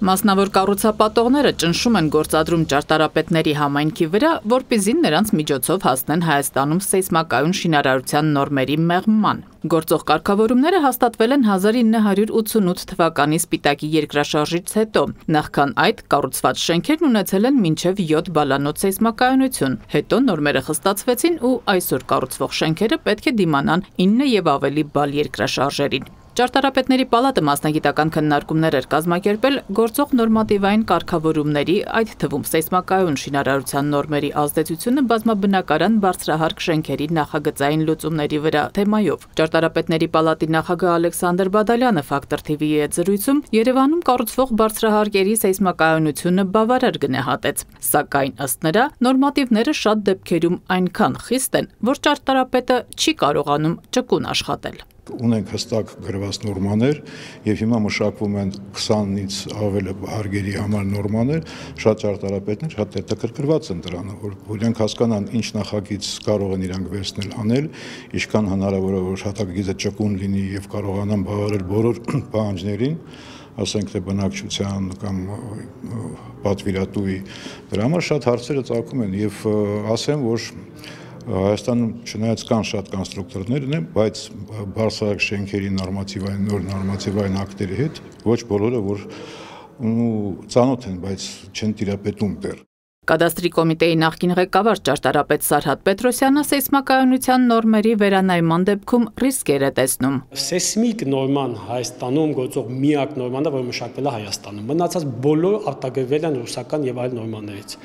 Մասնավոր կառուցապատողները ճնշում են գործադրում ճարտարապետների համայնքի վրա, որպեսզի նրանց միջոցով հասնեն Հայաստանում սեյսմակայուն շինարարության նորմերի մեղմման։ Գործող կարգավորումները հաստատվել են 1988 թվականի Սպիտակի երկրաշարժից հետո։ Նախքան այդ կառուցված շենքերն ունեցել են մինչև 7 բալանոց սեյսմակայունություն։ Հետո նորմերը խստացվեցին ու այսօր կառուցվող շենքերը պետք է դիմանան 9 եւ ավելի բալ երկրաշարժերին։ Ճարտարապետների պալատը մասնագիտական քննարկումներ էր կազմակերպել գործող նորմատիվային կարգավորումների, այդ թվում սեյսմակայուն շինարարության նորմերի ազդեցությունը բազմաբնակարան բարձրահարկ շենքերի նախագծային լուծումների վրա թեմայով։ Ճարտարապետների պալատի նախագահ Ալեքսանդր Բադալյանը Factor TV-ի հետ զրույցում Երևանում կառուցվող բարձրահարկերի սեյսմակայունությունը բավարար գնահատեց, սակայն ըստ նրա նորմատիվները շատ դեպքերում այնքան խիստ են, որ ճարտարապետը չի կարողանում ճկուն աշխատել։ Ունենք հստակ գրված նորմաներ եւ հիմա մշակվում են 20-ից ավել հարգերի համար նորմաներ, շատ ճարտարապետներ շատ հետաքրքրված են դրանով, որ իրենք հասկանան ինչ նախագիծ կարող են իրանք վերցնել անել, ինչքան հնարավոր է որ հատակագիծը ճկուն լինի եւ կարողանան բավարարել բոլոր պահանջներին, ասենք թե բնակչության կամ պատվիրատուի, դրա համար շատ հարցերը ծագում են եւ ասեմ, որ Հայաստանում չնայած կան շատ կոնստրուկտորներ ունեն, բայց բարձրահարկ շենքերի նոր նորմատիվային ակտերի հետ ոչ բոլորը որ ծանոթ են, բայց չեն տիրապետում դեռ։ Կադաստրի կոմիտեի նախկին ղեկավար ճարտարապետ Սարհատ Պետրոսյանը սեյսմակայունության նորմերի վերանայման դեպքում ռիսկեր է տեսնում։ Սեյսմիկ նորման Հայաստանում գործող միակ նորման է, որը մշակվել է Հայաստանում։ Մնացած բոլոր արտագրվել են ռուսական եւ այլ նորմաներից։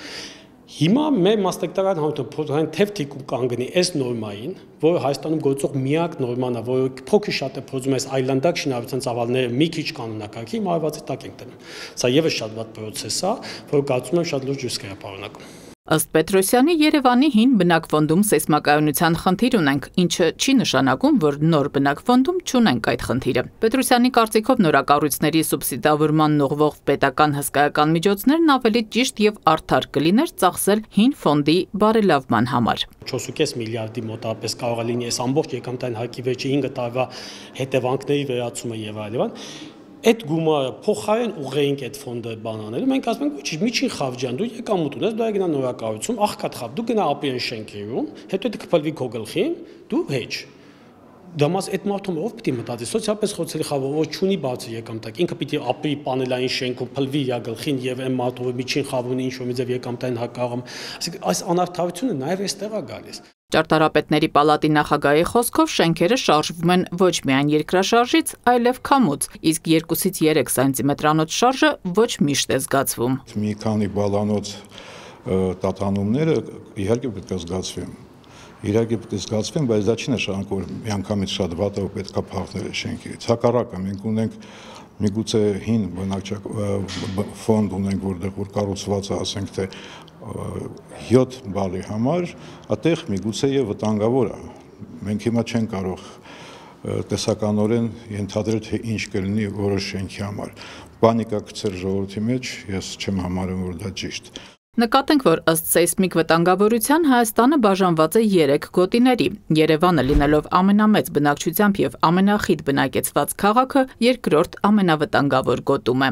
Հիմա մեր մասնագիտական հանրության թեև թիկուն կանգնի այս նորմային, որը Հայաստանում գործող միակ նորման է, որը փոքր շատ է փորձում այս այլանդակ շինարարության ծավալները մի քիչ կանոնակարգի, հիմա արվածի տակ ենք դնում։ Սա եւս շատ վատ պրոցես է, որը կարծում եմ շատ լուրջ ռիսկ է պարունակում։ Ըստ Պետրոսյանի Երևանի հին բնակֆոնդում սեյսմակայունության խնդիր ունենք, ինչը չի նշանակում, որ նոր բնակֆոնդում չունենք այդ խնդիրը։ Պետրոսյանի կարծիքով նորակառույցների սուբսիդավորման ուղղվող պետական հսկայական միջոցներն ավելի ճիշտ եւ արդար կլիներ ծախսել հին ֆոնդի բարելավման համար։ 4.5 միլիարդի մոտավորապես կարող է լինի այս ամբողջ եկամտային հարկի վերջի 5 տարվա հետևանքների վերացումը եւ այլն։ Այդ գումարը փոխարեն ուղղենք այդ ֆոնդը բանանելու, մենք ասում ենք, ոչ միջին խավջան, դու եկամուտ ունես, դու գնա նորակառույցում, աղքատ խավ, դու գնա ապի այն շենքերում, հետո դու կփլվի քո գլխին, դու հեչ։ Դամաս այդ մարդում ով պիտի մտածի, սոցիալպես խոցելի խավը, որ չունի բարձր եկամտակ, ինքը պիտի ապի պանելային շենքում փլվի իր գլխին եւ այն մարդը միջին խավունի ինչ որ մի ձև եկամտային հակաղում, ասենք այս անարդարությունը նաեւ այստեղ է գալիս։ Ճարտարապետների պալատի նախագահի խոսքով շենքերը շարժվում են ոչ միայն երկրաշարժից, այլև քամուց, իսկ 2-ից 3 սանտիմետրանոց շարժը ոչ միշտ է զգացվում։ Մի քանի բալանոց տատանումները իհարկե պետք է զգացվեն։ Իհարկե պետք է զգացվեն, բայց դա չի նշանակում, որ միանգամից շատ վատը պետք է փախնել շենքից։ Հակառակը մենք ունենք միգուցե հին ֆոնդ ունենք, որտեղ որ կառուցված է, ասենք թե 7 բալի համար, այդտեղ միգուցե եւ վտանգավոր է։ Մենք հիմա չենք կարող տեսականորեն ենթադրել, թե ինչ կլինի որոշ շենքի համար։ Պանիկա գցել ժողովրդի մեջ, ես չեմ համարում, որ դա ճիշտ։ Նկատենք, որ ըստ սեյսմիկ վտանգավորության Հայաստանը բաժանված է 3 գոտիների։ Երևանը լինելով ամենամեծ բնակչությամբ եւ ամենախիտ բնակեցված քաղաքը, երկրորդ ամենավտանգավոր գոտում է։